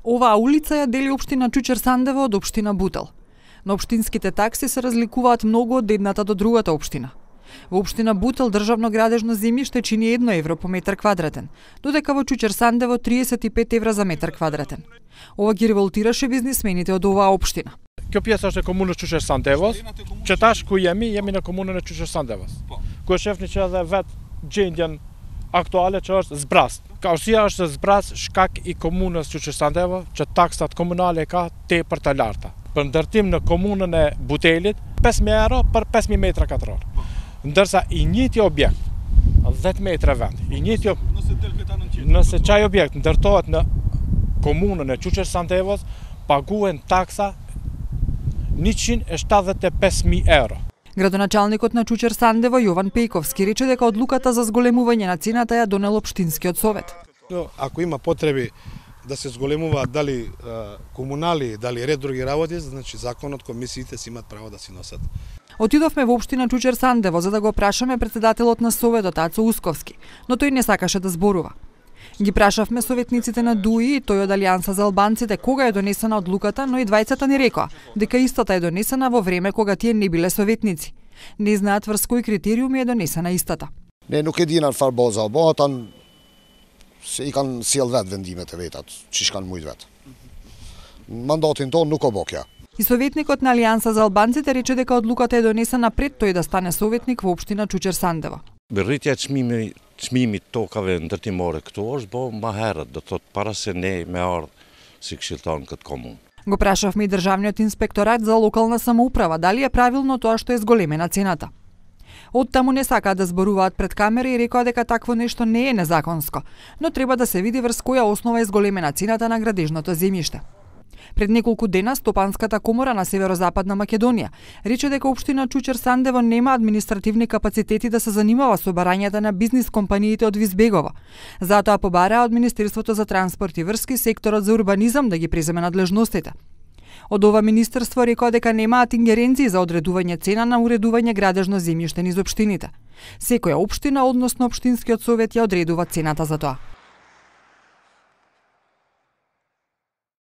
Оваа улица ја дели општина Чучер Сандево од општина Бутел. Но општинските такси се разликуваат многу од едната до другата општина. Во општина Бутел државно градежно земјиште чини 1 евро по метар квадратен, додека во Чучер Сандево 35 евра за метар квадратен. Ова ги револтираше бизнисмените од оваа општина. Kjo pjesë është e komunës Çuçer Sandevos, që tash ku jemi në komunën e Çuçer Sandevos. Ku shefni që edhe vetë gjendjen aktuale që është zbrast. Arsyeja është zbrast shkak i komunës Çuçer Sandevo që taksat komunale ka tepër të larta. Për ndërtim në komunën e Butelit 5.000 euro për 5.000 metra katror. Ndërsa i njëjti objekt 10 metra vend, nëse çaj objekt ndërtohet në komunën e Çuçer Sandevos, paguhen taksa 175.000 euro. Градоначалникот на Чучер Сандево Јован Пејковски рече дека одлуката за зголемување на цената ја донел општинскиот совет. Ако има потреби да се зголемуваат дали комунали, дали ред други работи, значи законот, комисиите си имат право да си носат. Отидовме во општина Чучер Сандево за да го прашаме председателот на советот Ацо Усковски, но тој не сакаше да зборува. Ги прашавме советниците на ДУИ и тој од Алијанса за албанците кога е донесена одлуката, но и двајцата ни рекоа дека истата е донесена во време кога тие не биле советници. Не знаат врз кои критериуми е донесена истата. Ne nuk e dinë çfarë boza, atan se I kanë sjell vet vendimet e vetat, çish kanë mujt vet. Mandatin ton nuk o bokja. И советникот на Алијанса за албанците рече дека одлуката е донесена пред тој да стане советник во општина Чучер Сандево. Rritja e çmimit tokave ndërtimore këtu është bo më herët, do thotë para se ne me ardh si këshilltar në këtë komunë. Го прашавме и државниот инспекторат за локална самоуправа дали е правилно тоа што е зголемена цената. Од таму не сакаат да зборуваат пред камера и рекоа дека такво нешто не е незаконско, но треба да се види врз која основа е зголемена цената на градежното земјиште. Пред неколку дена Стопанската комора на Северозападна Македонија рече дека општина Чучер Сандево нема административни капацитети да се занимава со барањата на бизнис компаниите од Визбегово. Затоа побараа од Министерството за транспорт и врски секторот за урбанизам да ги преземе надлежностите. Од ова министерство рекоа дека немаат ингеренции за одредување цена на уредување градежно земјиште низ општините. Секоја општина, односно општинскиот совет ја одредува цената за тоа.